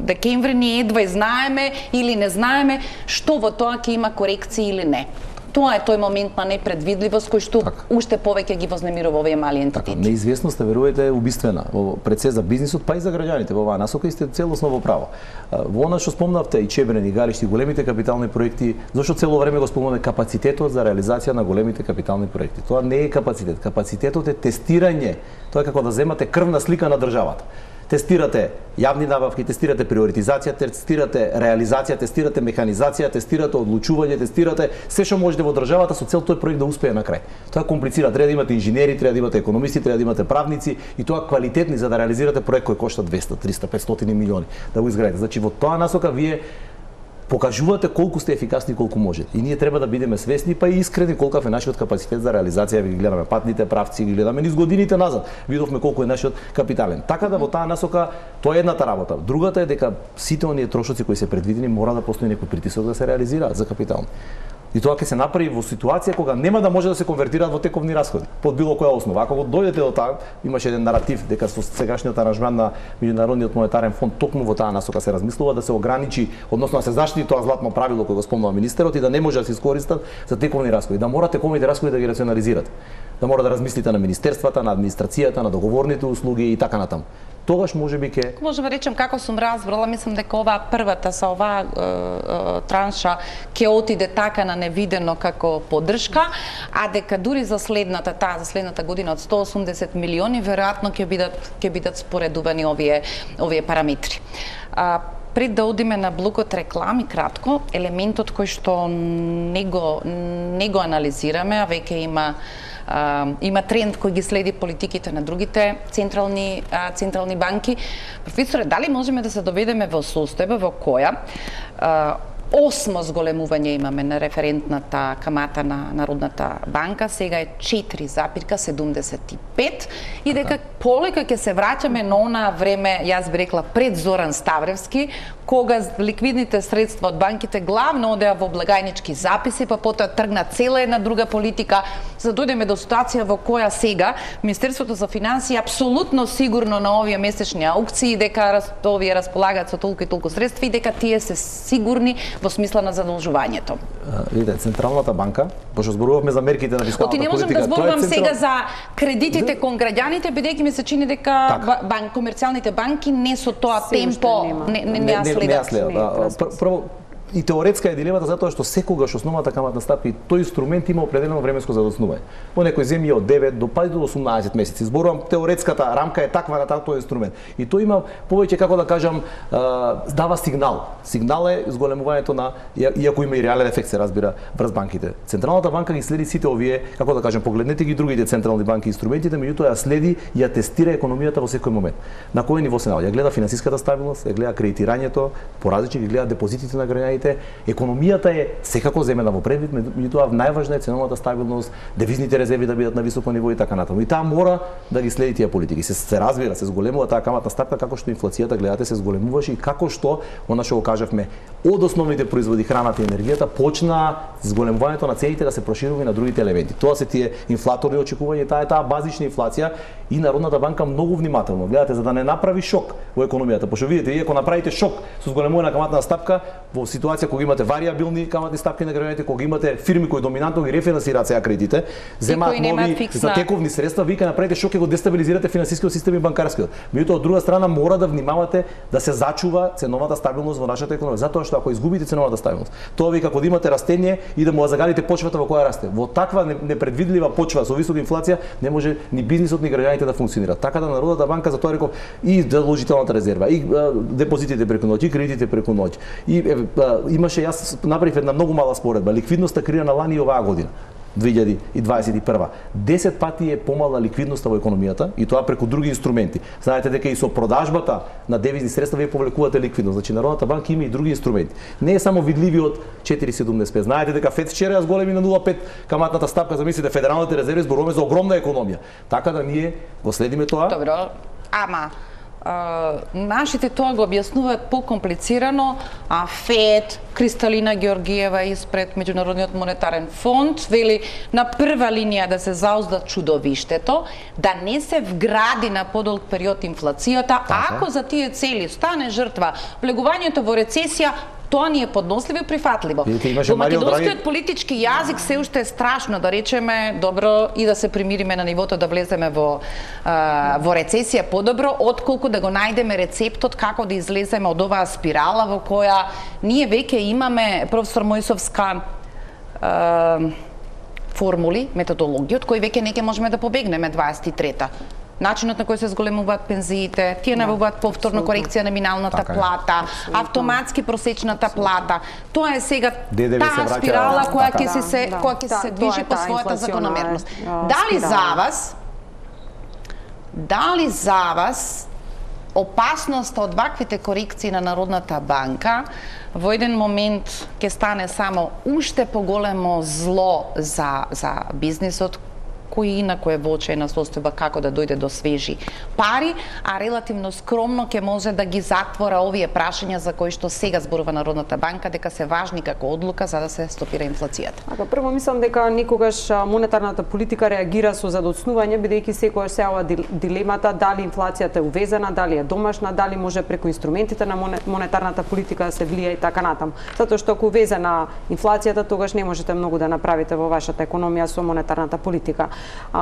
S1: декември ние едва знаеме или не знаеме што во тоа ќе има корекции или не. Тоа е тој момент на непредвидливост кој што уште повеќе ги вознемирува овие мали ентитети.
S3: Неизвестноста, верувате, е убиствена пред се за бизнисот, па и за граѓаните во оваа насока и сте целосно во право. Во она што спомнавте и Чебрен и Галишти, големите капитални проекти, зашто цело време го спомнаме капацитетот за реализација на големите капитални проекти. Тоа не е капацитет, капацитетот е тестирање. Тоа е како да земате крвна слика на државата. Тестирате јавни набавки, тестирате приоритизација, тестирате реализација, тестирате механизација, тестирате одлучување, тестирате се што можете во државата со цел тој проект да успее на крај. Тоа комплицира, треба да имате инженери, треба да имате економисти, треба да имате правници и тоа квалитетни за да реализирате проект кој кошта 200, 300, 500 милиони да го изградите. Значи во тоа насока вие покажувате колку сте ефикасни и колку можете. И ние треба да бидеме свесни па и искрени колку е нашиот капацитет за реализација. Ви гледаме патните правци, ги гледаме низ годините назад. Видовме колку е нашиот капитален. Така да во таа насока тоа е едната работа. Другата е дека сите оние трошоци кои се предвидени мора да постои некој притисок да се реализираат за капитал. И тоа ќе се направи во ситуација кога нема да може да се конвертираат во тековни расходи под било која основа. Ако дојдете до таа, имаше еден наратив дека со сегашниот аранжман на Меѓународниот монетарен фонд токму во таа насока се размислува да се ограничи, односно да се заштити тоа златно правило кое го спомнува министерот и да не може да се искористат за тековни расходи, да мора тековните расходи да ги рационализирате. Да мора да размислите на министерствата, на администрацијата, на договорните услуги и така натаму. Тогаш можеби ќе
S1: можеме да речем како сум разбрала, мислам дека оваа првата со оваа транша ќе отиде така на невидено како поддршка, а дека дури за следната година од 180 милиони веројатно ќе бидат споредувани овие параметри. Пред да одиме на блокот реклами кратко, елементот кој што не го анализираме, а веќе има тренд кој ги следи политиките на другите централни банки. Професоре, дали можеме да се доведеме во состојба во која 8 зголемување имаме на референтната камата на Народната банка, сега е 4,75 5 и дека полека ќе се враќаме на она време, јас би рекла пред Зоран Ставревски, кога ликвидните средства од банките главно одеа во благајнички записи, па потоа тргна цела една друга политика, за да дојдеме до ситуација во која сега Министерството за финансии апсолутно сигурно на овие месечни аукции дека овие располагаат со толку и толку средства и дека тие се сигурни во смисла на задолжувањето.
S3: Видите, Централната банка, пошто зборувавме за мерките на фискалната политика.
S1: Не можам да зборувам сега за кредитите кон граѓаните, бидејќи ми се чини дека комерцијалните банки не со тоа темпо не ја следат.
S3: Прво, и теоретска е дилемата затоа што секогаш основната каматна стапка и тој инструмент има определено временско задоцнување. Во некои земји од 9 до 18 месеци. Зборувам теоретската рамка е таква на тој инструмент. И тој има повеќе, како да кажам, дава сигнал. Сигнал е зголемувањето на, иако има и реален ефект, се разбира, врз банките. Централната банка ги следи сите овие, како да кажам, погледнете ги другите централни банки инструментите, меѓутоа ја следи и ја тестира економијата во секој момент. На кој ниво се наоѓа? Ја гледа финансиската стабилност, ја гледа кредитирањето, поразлични, ги гледа депозитите на граѓаните. Економијата е секако земена во предвид, меѓутоа најважна е ценовата стабилност, девизните резерви да бидат на високо ниво и така натаму. И таа мора да ги следи тие политики. Се разбира, се зголемува таа каматна стапка како што инфлацијата гледате се зголемуваше и како што она што го кажавме од основните производи, храната и енергијата, почна зголемувањето на цените да се проширува и на другите елементи. Тоа се тие инфлаторни очекувања, таа базична инфлација и Народната банка многу внимателно гледате за да не направи шок во економијата. Пошто видите, ако направите шок со зголемување на каматна стапка во ситуација кога имате варијабилни каматни стапки на граѓаните, кога имате фирми кои доминантно ги рефинансираат сега кредитите, земаат нови затековни средства, вие направите шок и го дестабилизирате финансискиот систем и банкарскиот. Меѓутоа од друга страна мора да внимавате да се зачува ценовата стабилност во нашата економија, затоа што ако изгубите ценовата стабилност, тоа ви како да имате растение и да му загалите почвата во која расте. Во таква непредвидлива почва со висока инфлација не може ни бизнисот ни граѓаните да функционираат. Така да Народната банка затоа реков и задолжителната резерва, и депозитите преку ноќ, и кредитите преку ноќ. И имаше, јас направив една многу мала споредба, ликвидноста креирана лани и оваа година. 2021. 10 пати е помала ликвидноста во економијата и тоа преку други инструменти. Знаете дека и со продажбата на девизни средства вие повлекувате ликвидност. Значи Народната банка има и други инструменти. Не е само видливиот 4,75. Знаете дека ФЕД вчера ја зголеми на 0,5 каматната стапка, замислите, федералните резерви, зборуваме за огромна економија. Така да ние го следиме тоа.
S1: Добро, ама нашите тоа го објаснуваат покомплицирано, а ФЕД, Кристалина Георгиева испред Меѓународниот монетарен фонд вели на прва линија да се заузда чудовиштето, да не се вгради на подолг период инфлацијата, ако за тие цели стане жртва влегувањето во рецесија, тоа ни е подносливо и прифатливо. Во македонскиот политички јазик се уште е страшно да речеме добро и да се примириме на нивото да влеземе во рецесија подобро, отколку да го најдеме рецептот како да излеземе од оваа спирала во која ние веќе имаме, професор Мојсовска, формули, методологија, од кои веќе не ќе можеме да побегнеме 23-та. Начинот на кој се зголемуваат пензиите, тие најавуваат повторно корекција на минималната плата, автоматски просечната плата. Тоа е сега таа спирала која ќе се движи по својата закономерност. Дали за вас опасноста од ваквите корекции на Народната банка во еден момент ќе стане само уште поголемо зло за бизнисот, кој инако е во очајна состојба како да дојде до свежи пари, а релативно скромно ќе може да ги затвора овие прашања за кои што сега зборува Народната банка дека се важни како одлука за да се стопира инфлацијата.
S2: Прво мислам дека никогаш монетарната политика реагира со задоцнување, бидејќи секогаш се ова дилемата дали инфлацијата е увезена, дали е домашна, дали може преку инструментите на монетарната политика да се влија и така натаму. Затоа што ако увезена инфлацијата, тогаш не можете многу да направите во вашата економија со монетарната политика.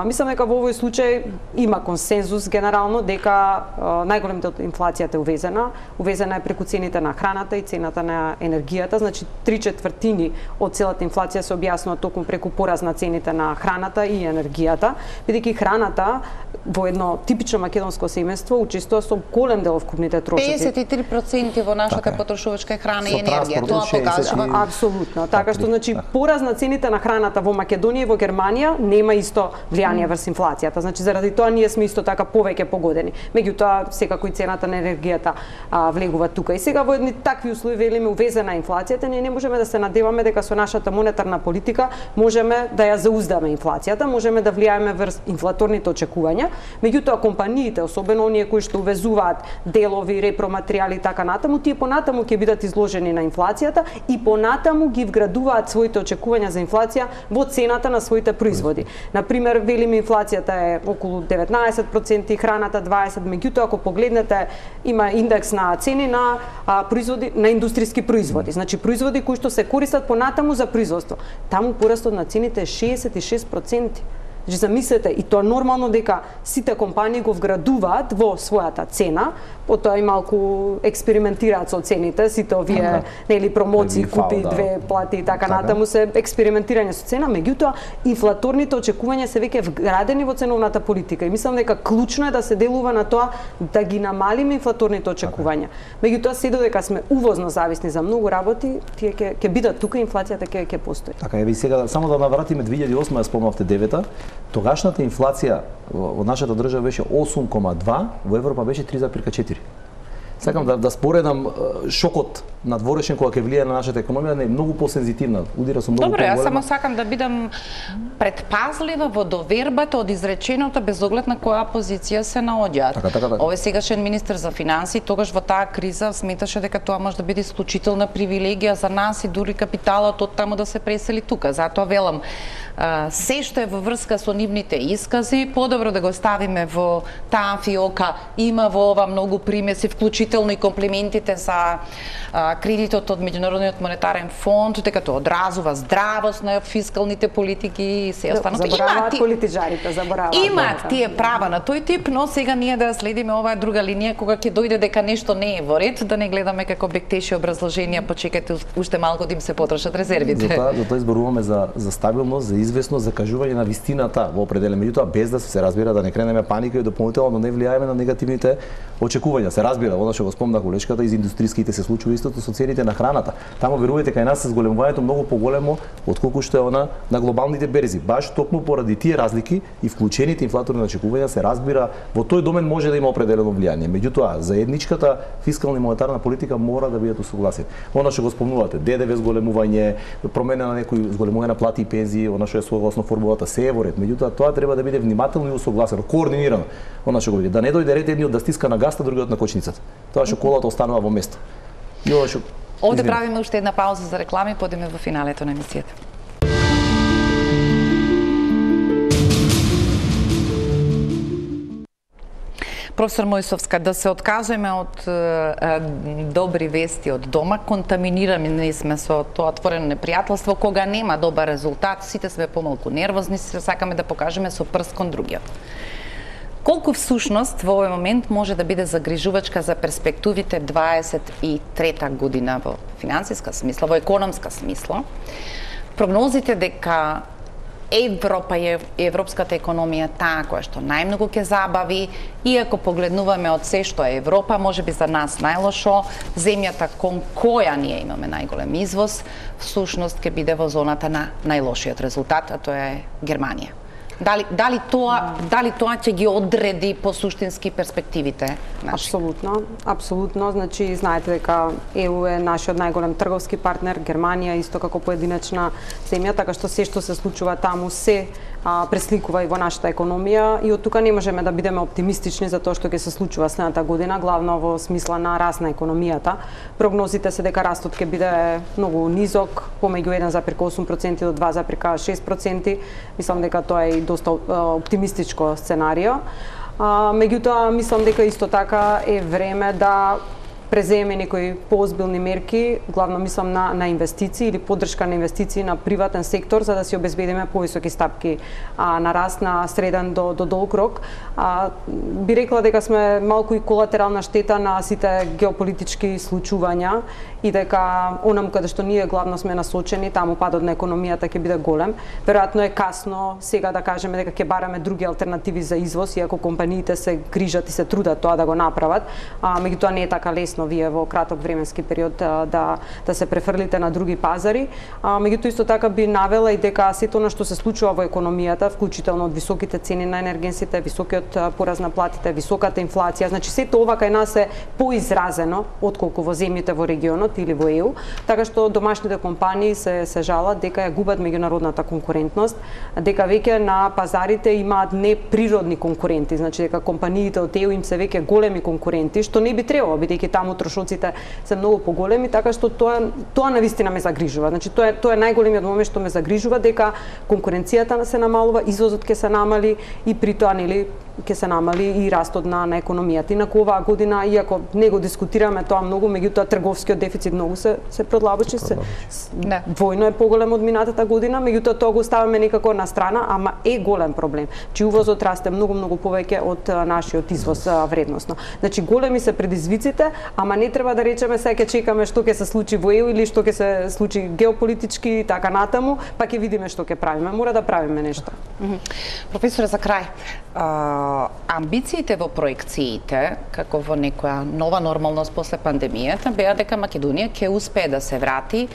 S2: Мислам дека во овој случај има консензус генерално дека најголем дел од инфлацијата е увезена. Увезена е преку цените на храната и цената на енергијата, значи 3/4 од целата инфлација се објаснува токму преку пораз на цените на храната и енергијата, бидејќи храната во едно типично македонско семејство учествува со голем дел од вкупните трошоци.
S1: 53% во нашата потрошувачка храна и енергија, тоа покажува
S2: апсолутно. Така што значи пораз на цените на храната во Македонија и во Германија нема исто влијание врз инфлацијата. Значи заради тоа ние сме исто така повеќе погодени. Меѓутоа секако и цената на енергијата влегува тука. И сега во едни такви услови велиме увезена инфлацијата, ние не можеме да се надеваме дека со нашата монетарна политика можеме да ја зауздаме инфлацијата, можеме да влијаеме врз инфлаторните очекувања. Меѓутоа компаниите, особено оние кои што увезуваат делови, репроматеријали и така натаму, тие понатаму ќе бидат изложени на инфлацијата и понатаму ги вградуваат своите очекувања за инфлација во цената на своите производи. Например, велиме инфлацијата е околу 19%, храната 20%, меѓутоа ако погледнете има индекс на цени на производи, на индустријски производи, значи производи кои што се користат понатаму за производство. Таму порастот на цените е 66%. Значи замислете, и тоа нормално дека сите компании го вградуваат во својата цена, потоа и малку експериментираат со цените, сите овие нели промоции, купи две плати и така натаму се експериментирање со цена, меѓутоа инфлаторните очекувања се веќе вградени во ценовната политика и мислам дека клучно е да се делува на тоа да ги намалиме инфлаторните очекувања. Меѓутоа се додека сме увозно зависни за многу работи, тие ќе бидат тука, инфлацијата ќе постои.
S3: Така е, сега само да навратиме 2008 ја спомнавте 9-та. Тогашната инфлација во нашата држава беше 8,2, во Европа беше 3,4. Сакам да споредам шокот надворешен кога ќе влијае на нашата економија не е многу посензитивна, удира со многу
S1: поголема. Добре, јас само
S3: поголема.
S1: сакам да бидам предпазлива во довербата од изреченото без оглед на која позиција се наоѓаат.
S3: Така.
S1: Овој сегашен министер за финансии тогаш во таа криза сметаше дека тоа може да биде исклучителна привилегија за нас и дури капиталот од таму да се пресели тука. Затоа велам, се што е во врска со нивните искази, подобро да го ставиме во таа фиока. Има во ова многу примеси, вклучително и комплиментите за кредитот од Меѓународниот монетарен фонд, дека тоа одразува здравост на фискалните политики и се останато.
S2: Забораваат политичарите, забораваат.
S1: Имаат тие права на тој тип, но сега ние да следиме оваа друга линија кога ќе дојде дека нешто не е во ред, да не гледаме како бектеши образложенија, почекате уште малку да им се потрошат резервите.
S3: Затоа изборуваме за стабилност, за известност, за кажување на вистината во определен, меѓутоа без да се разбира да не кренеме паника и дополнително не влијаеме на негативните очекувања. Се разбира, она што го спомна колешката, из индустријските се случува истото со цените на храната. Таму верувате кај нас се зголемувањето многу поголемо отколку што е она на глобалните берзи. Баш токму поради тие разлики и вклучените инфлаторни очекувања се разбира во тој домен може да има определено влијание. Меѓутоа, заедничката фискална и монетарна политика мора да бидат усогласени. Она што го спомнувате, ДДВ зголемување, промена на некои зголемување на плати и пензии, она што е согласно формулата се е во ред. Меѓутоа, тоа треба да биде внимателно и усогласено, координирано. Она што го биде, да не дојде ред едниот да стиска на гаста, другиот на кочницата. Тоа што колата останува во место. И ова што
S1: Овде правиме уште една пауза за реклами, подиме во финалето на емисијата. Професор Мојсовска, да се откажеме од добри вести од дома, контаминирани сме со тоа отворено непријателство, кога нема добар резултат, сите сме помалку нервозни, се сакаме да покажеме со прст кон другиот. Колку всушност во овој момент може да биде загрижувачка за перспективите 23-та година во финансиска смисла, во економска смисла? Прогнозите дека Европа и европската економија таа која што најмногу ќе забави, иако погледнуваме од се што е Европа, можеби за нас најлошо, земјата кон која ние имаме најголем извоз, всушност ќе биде во зоната на најлошиот резултат, а тоа е Германија. Дали тоа ќе ги одреди по суштински перспективите наши?
S2: Апсолутно. Значи, знаете дека ЕУ е нашиот најголем трговски партнер, Германија исто како поединечна земја, така што се што се случува таму се пресликува и во нашата економија и од тука не можеме да бидеме оптимистични за тоа што ќе се случува следната година, главно во смисла на раст на економијата. Прогнозите се дека растот ќе биде многу низок, помеѓу 1,8% до 2,6%. Мислам дека тоа е и доста оптимистичко сценарио. Меѓутоа, мислам дека исто така е време да преземе некои поозбилни мерки, главно мислам на инвестиции или поддршка на инвестиции на приватен сектор за да си обезбедиме повисоки стапки на раст на среден до долг рок. Би рекла дека сме малку и колатерална штета на сите геополитички случувања и дека онам каде што ние главно сме насочени, таму падот на економијата ќе биде голем. Веројатно е касно сега да кажеме дека ќе бараме други алтернативи за извоз, иако компаниите се грижат и се трудат тоа да го направат, меѓутоа не е така лесно лесно вие во краток временски период да се префрлите на други пазари. Меѓутоа исто така би навела и дека сето она што се случува во економијата, вклучително од високите цени на енергенсите, високиот пораз на платите, високата инфлација, значи сето ова кај нас е поизразено отколку во земјите во регионот или во ЕУ, така што домашните компании се жалат дека ја губат меѓународната конкурентност, дека веќе на пазарите имаат неприродни конкуренти, значи дека компаниите од ЕУ им се веќе големи конкуренти, што не би требало, бидејќи таму трошоците се многу поголеми, така што тоа навистина ме загрижува. Значи тоа е најголемиот момент што ме загрижува, дека конкуренцијата се намалува, извозот ќе се намали и при тоа нели ќе се намали и растот на економијата. Инаку оваа година, иако не го дискутираме тоа многу, меѓутоа трговскиот дефицит многу се продлабочи, двојно е поголем од минатата година, меѓутоа тоа го ставаме некако на страна, ама е голем проблем. Чи увозот расте многу повеќе од нашиот извоз вредносно. Значи големи се предизвиците, ама не треба да речеме сега ќе чекаме што ќе се случи во ЕУ или што ќе се случи геополитички и така натаму, па ќе видиме што ќе правиме. Мора да правиме нешто.
S1: Професоре, за крај, амбициите во проекциите, како во некоја нова нормалност после пандемијата, беа дека Македонија ќе успее да се врати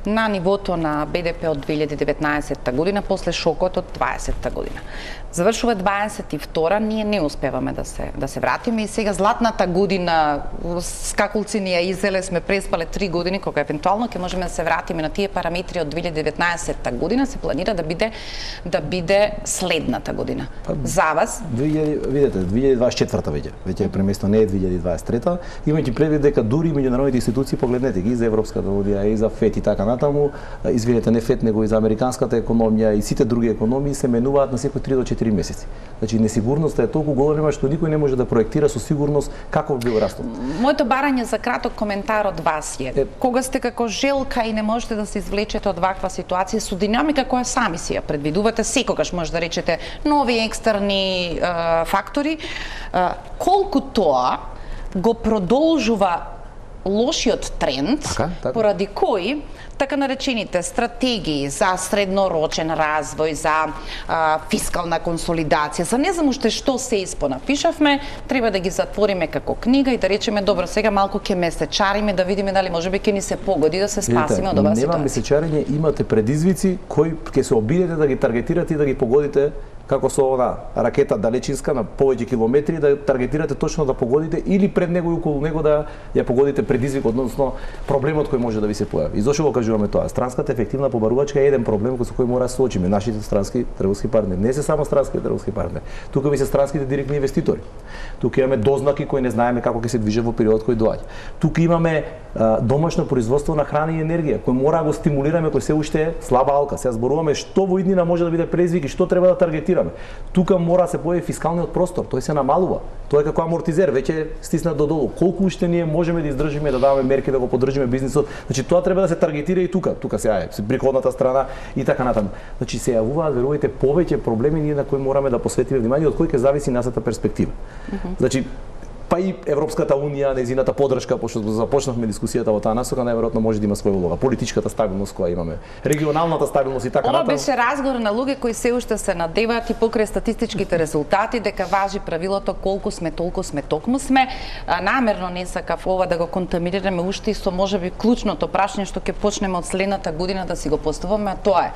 S1: на нивото на БДП од 2019 година после шокот од 20-та година. Завршува 22-та, ние не успеваме да се вратиме и сега златната година, скакулци ни ја изеле, сме преспале 3 години, кога евентуално ќе можеме да се вратиме на тие параметри од 2019 година, се планира да биде следната година. За вас?
S3: Видете, 2024 веќе е преместо, не е 2023-та, имајќи предвид дека дури меѓународните институции, погледнете ги, за Европската унија и за ФЕД и така натаму, извинете, не ФЕД, него и за американската економија и сите други економии се менуваат на секој 3 до 4 месеци. Значи несигурноста е толку голема што никој не може да проектира со сигурност каков бил растот.
S1: Моето барање за краток коментар од вас е, кога сте како желка и не можете да се извлечете од ваква ситуација со динамика која сами си ја предвидувате, секогаш може да речете нови екстерни фактори, колку тоа го продолжува лошиот тренд, така. Поради кој така наречените стратегии за среднорочен развој, за фискална консолидација, за не знам уште што се испонапишавме, треба да ги затвориме како книга и да речеме добро, сега малку ќе месечариме да видиме дали можеби ќе ни се погоди да се спасиме од оваа ситуација.
S3: Нема месечарење, имате предизвици кои ќе се обидете да ги таргетирате и да ги погодите како со она ракета далечинска на повеќе километри, да таргетирате точно да погодите или пред него и околу него да ја погодите предизвик, односно проблемот кој може да ви се појави. И зошто го кажуваме тоа? Странската ефективна побарувачка е еден проблем со кој мора да се соочиме нашите странски трговски партнери. Не се само странски трговски партнери. Тука ви се странските директни инвеститори. Тука имаме дознаки кои не знаеме како ќе се движат во периодот кој доаѓа. Тука имаме домашно производство на храна и енергија, кој мора да го стимулираме, кој се уште е слаба алка. Сега зборуваме што во иднина може да биде предизвик и што треба да таргетираме. Тука мора да се појави фискалниот простор, тој се намалува. Тоа е како амортизер, веќе стиснат додолу. Колку уште ние можеме да издржиме, да даваме мерки да го поддржиме бизнисот? Значи тоа треба да се таргетира и тука. Тука сега е приходната страна и така натаму. Значи се јавуваат верувајте повеќе проблеми ние на кои мораме да посветиме внимание, од кои ќе зависи нашата перспектива. Значи па и Европската унија, нејзината поддршка, пошто започнавме дискусијата во таа насока, најверојатно може да има своја улога. Политичката стабилност која имаме, регионалната стабилност и така натаму.
S1: Ова беше разговор на луѓе кои се уште се надеваат и покрај статистичките резултати дека важи правилото колку сме толку сме, токму сме. Намерно не сакав ова да го контаминираме уште и со можеби клучното прашање што ќе почнеме од следната година да си го поставуваме, а тоа е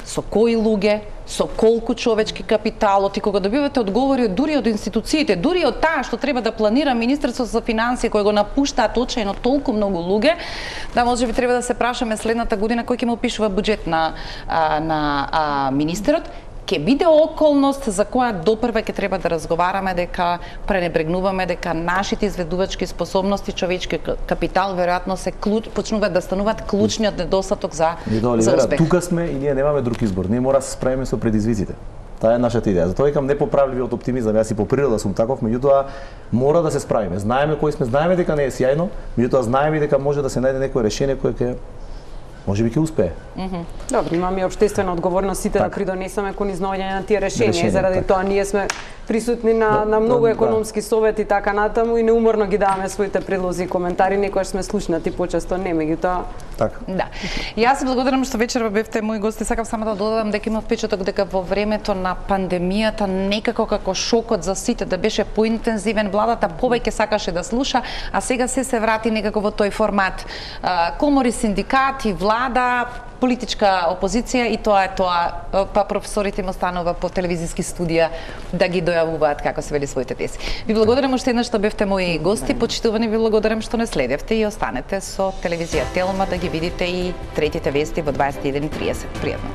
S1: со кои луѓе, со колку човечки капитал, и кога добивате одговори дури од институциите, дури од таа што треба да планира Министерството за финансии, кој го напуштаат очајно толку многу луѓе, да можеби треба да се прашаме следната година кој ќе му пишува буџет на министерот, ќе биде околност за која допрва ќе треба да разговараме дека пренебрегнуваме дека нашите изведувачки способности, човечки капитал веројатно се почнуваат да стануваат клучниот недостаток за успех.
S3: Тука сме и ние немаме друг избор. Ние мора да се справиме со предизвиците. Таа е нашата идеја. Затоа викам непоправливиот оптимизам. Јас и по природа сум таков, меѓутоа мора да се справиме. Знаеме кои сме, знаеме дека не е сјајно, меѓутоа знаеме дека може да се најде некое решение кое ќе можеби ќе успее.
S2: Добро, имаме и општествена одговорност сите да придонесеме кон изнаоѓање на тие решенија, заради тоа ние сме присутни на многу економски совети и така натаму и неуморно ги даваме своите предлози и коментари, некогаш сме слушнати, почесто не, меѓутоа
S3: Така.
S1: Да. И јас благодарам што вечерва бевте мои гости. Сакам само да додадам дека има впечаток дека во времето на пандемијата некако како шокот за сите да беше поинтензивен, владата повеќе сакаше да слуша, а сега се врати некако во тој формат. Комори, синдикати, влада, политичка опозиција и тоа е тоа, па професорите им останува по телевизиски студија да ги дојавуваат како се вели своите тези. Ви благодарам уште еднаш што бевте мои гости, почитувани, ви благодарам што не следевте и останете со телевизија Телма да ги видите и третите вести во 21:30. Пријатно.